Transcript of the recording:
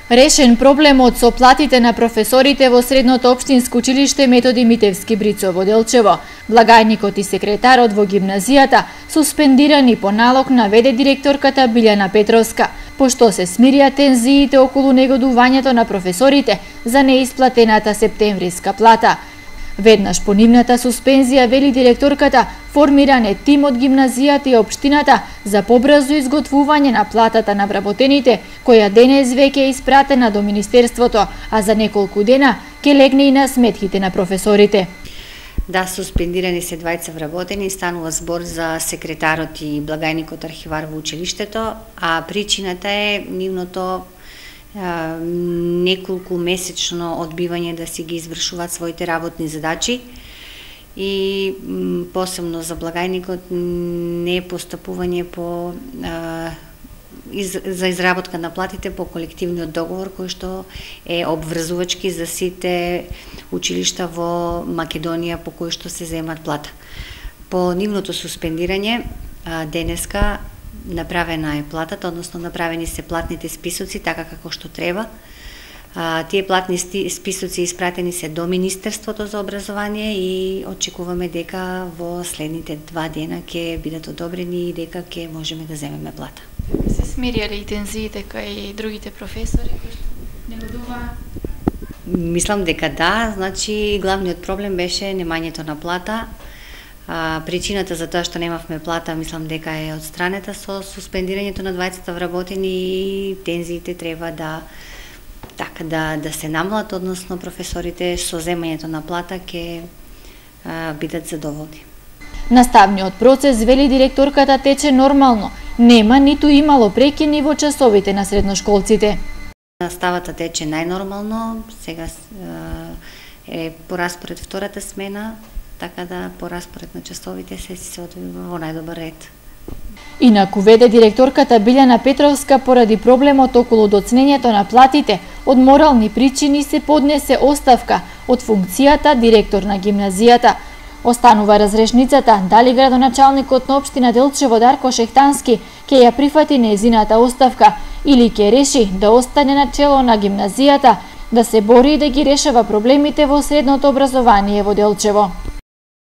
Решен проблемот со платите на професорите во средното општинско училиште Методи Митевски Брицо во Делчево. Благајникот и секретарот во гимназијата суспендирани по налог наведе директорката Билјана Петровска, пошто се смирија тензиите околу негодувањето на професорите за неисплатената септемвриска плата. Веднаш по нивната суспензија, вели директорката, формиран е тим од гимназијата и општината за побрзо изготвување на платата на вработените, која денес веќе е испратена до Министерството, а за неколку дена ќе легне и на сметките на професорите. Да, суспендирани се двајца вработени, станува збор за секретарот и благајникот архивар во училиштето, а причината е нивното неколку месечно одбивање да си ги извршуваат своите работни задачи и посебно за благајникот не постапување по за изработка на платите по колективниот договор кој што е обврзувачки за сите училишта во Македонија по кои што се земат плата. По нивното суспендирање денеска направена е платата, односно направени се платните списоци така како што треба. Тие платни списоци испратени се до Министерството за образование и очекуваме дека во следните 2 дена ќе бидат одобрени и дека ќе можеме да земеме плата. Се смирија ли тензиите кај другите професори кои што негодуваа? Мислам дека да, значи главниот проблем беше немањето на плата. Причината за тоа што немавме плата, мислам дека е одстранета со суспендирањето на двајцата вработени и тензиите треба да се намалат, односно професорите со земањето на плата ќе бидат задоволни. Наставниот процес, вели директорката, тече нормално. Нема ниту имало прекини во часовите на средношколците. Наставата тече најнормално, сега е по распоред втората смена, така да по распоред на часовите се одвива во најдобар ред. Инаку, веде директорката Билјана Петровска, поради проблемот околу доцнењето на платите, од морални причини се поднесе оставка од функцијата директор на гимназијата. Останува разрешницата дали градоначалникот на општина Делчево Дарко Шехтански ќе ја прифати нејзината оставка или ќе реши да остане на чело на гимназијата, да се бори и да ги решава проблемите во средното образование во Делчево.